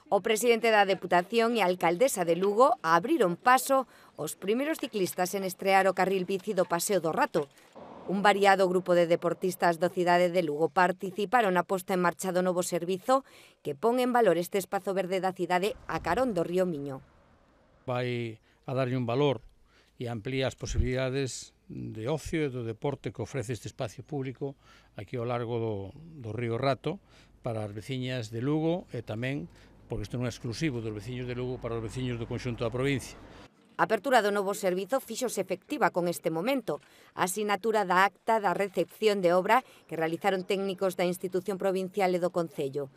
O presidente da Deputación e a alcaldesa de Lugo abriron paso os primeiros ciclistas en estrear o carril bici do Paseo do Rato. Un variado grupo de deportistas da cidade de Lugo participaron na posta en marcha do novo servizo que pon en valor este espazo verde da cidade a carón do río Miño. Vai a darlle un valor e amplía as posibilidades de ocio e do deporte que ofrece este espacio público aquí ao largo do río Rato para as veciñas de Lugo e tamén, porque isto non é exclusivo dos veciños de Lugo, para os veciños do conxunto da provincia. A apertura do novo servizo fíxose efectiva con este momento. A asinatura da acta da recepción de obra que realizaron técnicos da institución provincial e do Concello.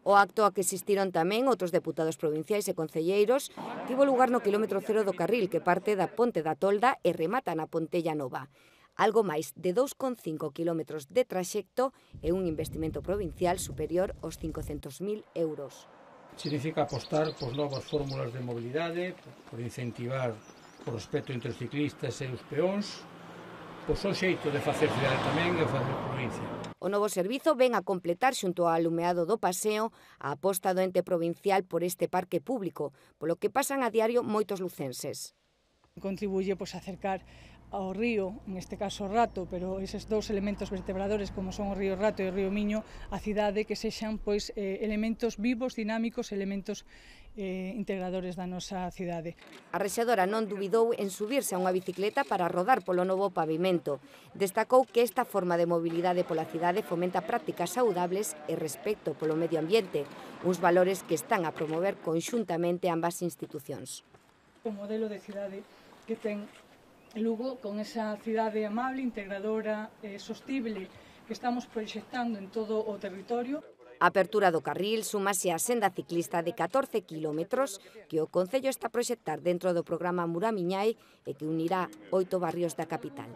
O acto a que asistiron tamén outros deputados provinciais e concelleiros tivo lugar no quilómetro cero do carril que parte da Ponte da Tolda e remata na Pontella Nova. Algo máis de 2,5 kilómetros de traxecto e un investimento provincial superior aos 500.000 euros. Significa apostar por novas fórmulas de mobilidade, por incentivar o respeto entre os ciclistas e os peóns, pois o xeito de facer cidade tamén e facer provincia. O novo servizo ven a completar xunto ao alumeado do paseo a aposta do ente provincial por este parque público, polo que pasan a diario moitos lucenses. Contribuye a acercar ao río, en este caso o Rato, pero eses dous elementos vertebradores como son o río Rato e o río Miño, a cidade que sexan elementos vivos, dinámicos, elementos integradores da nosa cidade. A rexedora non dubidou en subirse a unha bicicleta para rodar polo novo pavimento. Destacou que esta forma de mobilidade pola cidade fomenta prácticas saudables e respecto polo medio ambiente, uns valores que están a promover conxuntamente ambas institucións. O modelo de cidade que ten Lugo, con esa cidade amable, integradora e sostible que estamos proxectando en todo o territorio. A apertura do carril súmase á senda ciclista de 14 kilómetros que o Concello está a proxectar dentro do programa Muramiñai e que unirá 8 barrios da capital.